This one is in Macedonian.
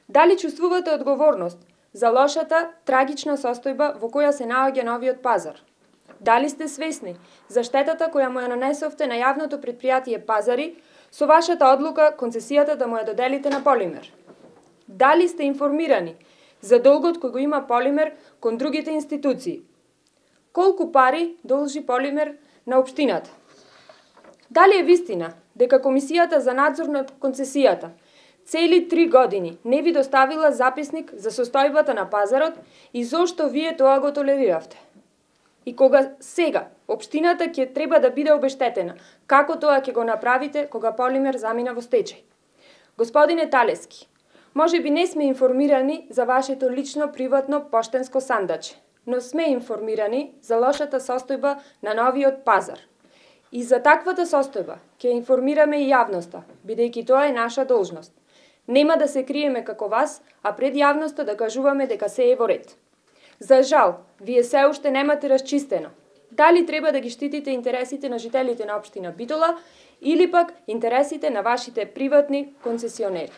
Дали чувствувате одговорност за лошата, трагична состојба во која се наоѓа новиот пазар? Дали сте свесни за штетата која му ја нанесовте на јавното предпријатие Пазари со вашата одлука концесијата да му ја доделите на Полимер? Дали сте информирани за долгот кој го има Полимер кон другите институции? Колку пари должи Полимер на општината? Дали е вистина дека Комисијата за надзор на концесијата цели 3 години не ви доставила записник за состојбата на пазарот и зошто вие тоа го толериравте? И кога сега општината ќе треба да биде обештетена, како тоа ќе го направите кога Полимер замина во стечај? Господине Талески, може би не сме информирани за вашето лично приватно поштенско сандаче, но сме информирани за лошата состојба на новиот пазар. И за таквата состојба ќе информираме и јавноста, бидејќи тоа е наша должност. Нема да се криеме како вас, а пред јавноста да кажуваме дека се е во ред. За жал, вие се уште немате расчистено дали треба да ги штитите интересите на жителите на општина Битола или пак интересите на вашите приватни концесионери.